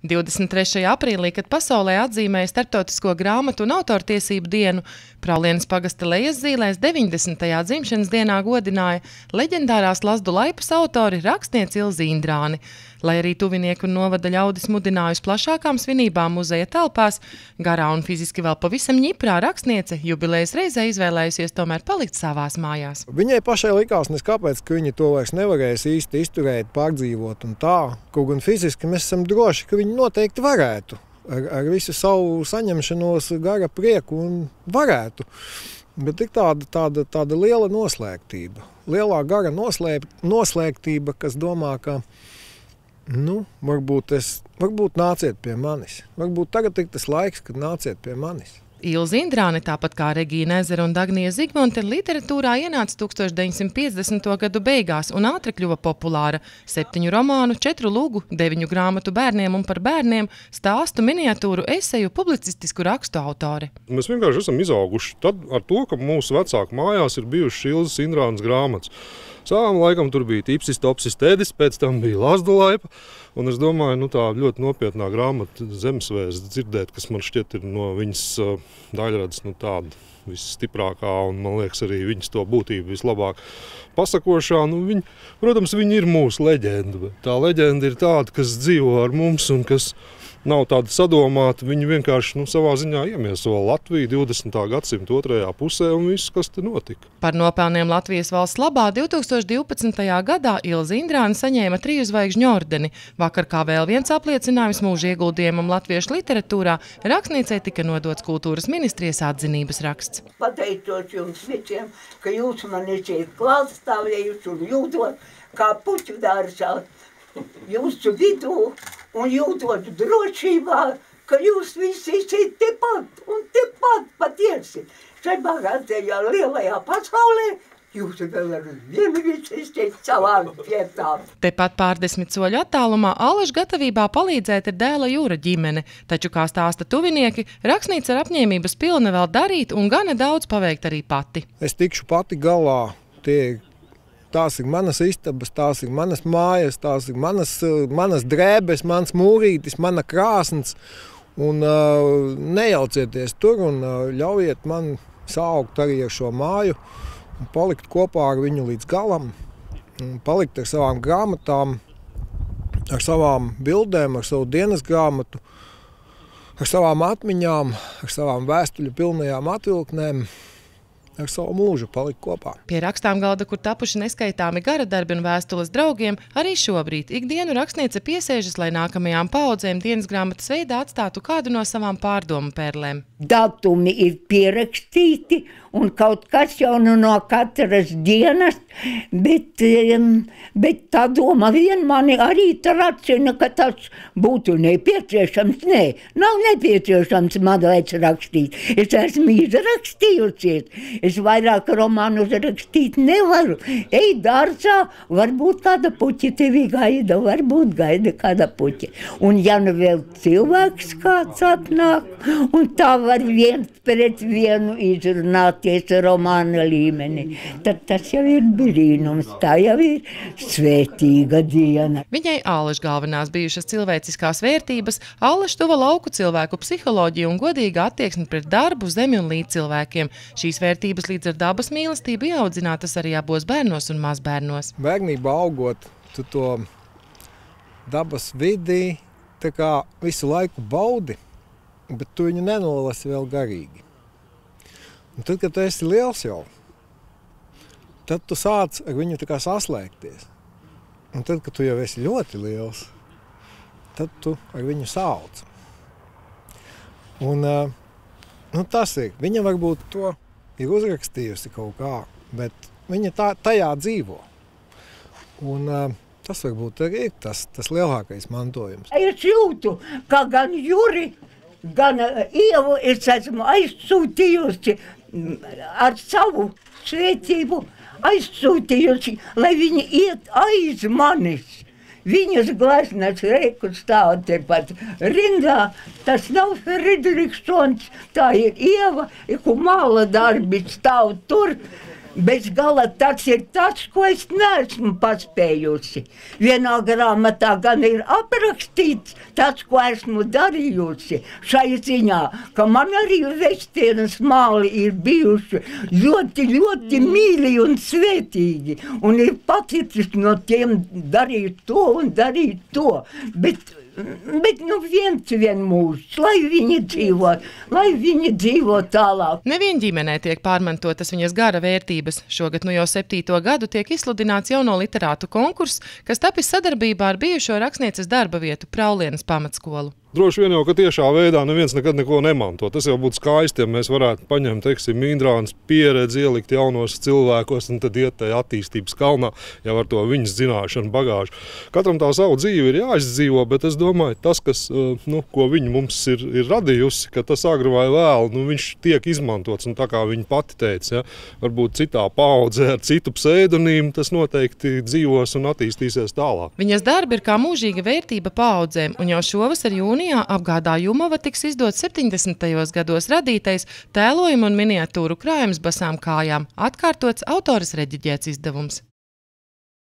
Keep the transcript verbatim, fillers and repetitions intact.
divdesmit trešajā aprīlī, kad pasaulē atzīmēja Starptautisko grāmatu un autortiesību dienu, Praulienes pagasta Lejaszīlēs deviņdesmitajā dzimšanas dienā godināja leģendārās Lazdu laipas autori rakstnieci Ilzi Indrāni. Lai arī tuvinieki un novada ļaudis mudinājusi plašākām svinībām muzeja telpās, garā un fiziski vēl pavisam ņiprā rakstniece jubilejas reizē izvēlējusies tomēr palikt savās mājās. Viņai pašai likās neskāpēc, ka viņa to vairs nevarēs īsti izturēt, pārdzīvot un tā. Kaut gan fiziski mēs esam droši, ka viņi noteikti varētu. Ar, ar visu savu saņemšanos, gara prieku un varētu. Bet ir tāda, tāda, tāda liela noslēgtība. Lielā gara noslēp, noslēgtība, kas domā, ka nu, varbūt, es, varbūt nāciet pie manis. Varbūt tagad ir tas laiks, kad nāciet pie manis. Ilze Indrāne, tāpat kā Regīna Ezera un Dagnija Zigmonte, literatūrā ienāca tūkstoš deviņsimt piecdesmito gadu beigās un ātri kļuva populāra. Septiņu romānu, četru lūgu, deviņu grāmatu bērniem un par bērniem, stāstu, miniatūru, eseju, publicistisku rakstu autori. Mēs vienkārši esam izauguši tad ar to, ka mūsu vecāku mājās ir bijušas Ilzes Indrānes grāmatas. Sāvam laikam tur bija Tipsis, Topsis, Tēdis, pēc tam bija Lazdu laipa. Un es domāju, nu tā ļoti nopietnā grāmata Zemesvēsts dzirdēt, kas man šķiet ir no viņas uh, daļradas nu tāda visstiprākā un man liekas arī viņas to būtību vislabāk pasakošā. Nu, viņi, protams, viņi ir mūsu leģenda, bet tā leģenda ir tāda, kas dzīvo ar mums un kas nav tāda sadomāta. Viņi vienkārši nu, savā ziņā iemieso Latviju divdesmitā gadsimta otrajā pusē un viss, kas te notika. Par nopelniem Latvijas valsts labā divtūkstoš divpadsmitajā gadā Ilze Indrāne saņēma triju zvaigžņu ordeni. Vakar kā vēl viens apliecinājums mūža ieguldījumam latviešu literatūrā, rakstniecei tika nodots kultūras ministrijas atzinības raksts. Pateicot jums visiem, ka jūs man esat klātstāvējuši un jūtot kā puķu dārzā jūsu vidū un jūtot drošībā, ka jūs visi esat tepat un tepat patiesi. Šai bagātajā lielajā pasaulē jūs vēl ar vienu visi esat savām vietām. Tepat pārdesmit soļu attālumā Allaž gatavībā palīdzēt ir dēla Jūra ģimene, taču, kā stāsta tuvinieki, rakstnīca ar apņēmības pilna vēl darīt un gana daudz paveikt arī pati. Es tikšu pati galā. Tie, tās ir manas istabas, tās ir manas mājas, tās ir manas, manas drēbes, mans mūrītis, mana krāsns. Un uh, nejaucieties tur un uh, ļaujiet man saukt arī ar šo māju. Un palikt kopā ar viņu līdz galam, palikt ar savām grāmatām, ar savām bildēm, ar savu dienas grāmatu, ar savām atmiņām, ar savām vēstuļu pilnajām atvilknēm, ar savu mūžu palikt kopā. Pie rakstām galda, kur tapuši neskaitāmi gara darbi un vēstules draugiem, arī šobrīd ikdienu rakstniece piesēžas, lai nākamajām paaudzēm dienas grāmatas veidā atstātu kādu no savām pārdomu pērlēm. Datumi ir pierakstīti un kaut kas jau nu no katras dienas, bet, bet tā doma vien mani arī tracina, ka tas būtu nepieciešams. Nē, nav nepieciešams man vairs rakstīt. Es esmu izrakstījusies. Es vairāk romānus rakstīt nevaru. Ej dārzā, varbūt kāda puķa tevi gaida, varbūt gaida kāda puķa. Un ja nu vēl cilvēks kāds atnāk, un tā var viens pret vienu izrunāties romāna līmenī, tad tas jau ir brīnums, tā jau ir svētīga diena. Viņai Allaž galvenās bijušas cilvēciskās vērtības, Allaž tuva lauku cilvēku psiholoģiju un godīga attieksme pret darbu, zemi un līdz cilvēkiem. Šīs vērtības līdz ar dabas mīlestību ieaudzinātas arī abos bērnos un mazbērnos. Bērnībā augot, tu to dabas vidī tā kā visu laiku baudi, bet tu viņu nenolasi vēl garīgi. Un tad, kad tu esi liels jau, tad tu sāc ar viņu tā kā saslēgties. Un tad, kad tu jau esi ļoti liels, tad tu ar viņu sauc. Un nu, tas ir. Viņa varbūt to ir uzrakstījusi kaut kā, bet viņa tā, tajā dzīvo. Un tas varbūt arī ir tas, tas lielākais mantojums. Es jūtu, ka gan Juri, gan Ievu es esmu aizsūtījusi ar savu svētību, aizsūtījusi, lai viņi iet aiz manis. Viņas gleznas reiku stāv tepat rindā. Tas nav Fridriksons, tā ir Ieva, ku māla darbi stāv tur. Bez gala tas ir tas, ko es neesmu paspējusi. Vienā grāmatā gan ir aprakstīts tas, ko esmu darījusi. Šai ziņā, ka man arī Vestienas māli ir bijuši ļoti, ļoti mīļi un svētīgi. Un ir paticis no tiem darīt to un darīt to. Bet Bet nu viens vien mūžs, lai viņi dzīvo, lai viņi dzīvo tālāk. Nevien ģimenē tiek pārmantotas viņas gara vērtības. Šogad nu jau septīto gadu tiek izsludināts jauno literātu konkurss, kas tapis sadarbībā ar bijušo rakstnieces darba vietu Praulienes pamatskolu. Droši vien jau, ka tiešā veidā neviens nekad neko nemanto. Tas jau būtu skaisti, ja mēs varētu paņemt, teiksim, Indrānas pieredzi, ielikt jaunos cilvēkos un tad iet tajā attīstības kalnā, jau ar to viņas zināšanu bagāžu. Katram tā savu dzīvi ir jāizdzīvo, bet es domāju, tas, kas, nu, ko viņa mums ir, ir radījusi, ka tas agri vai vēl, nu, viņš tiek izmantots, un tā kā viņa pati teica, ja, varbūt citā paudzē ar citu pseidonīmu, tas noteikti dzīvos un attīstīsies tālāk. Viņas darbi ir kā mūžīga vērtība paudzēm, un jau šovasar jūnijā apgādā Jumava tiks izdot septiņdesmitajos gados radītais tēlojumu un miniatūru krājums basām kājām, atkārtots autoras reģiģēts izdevums.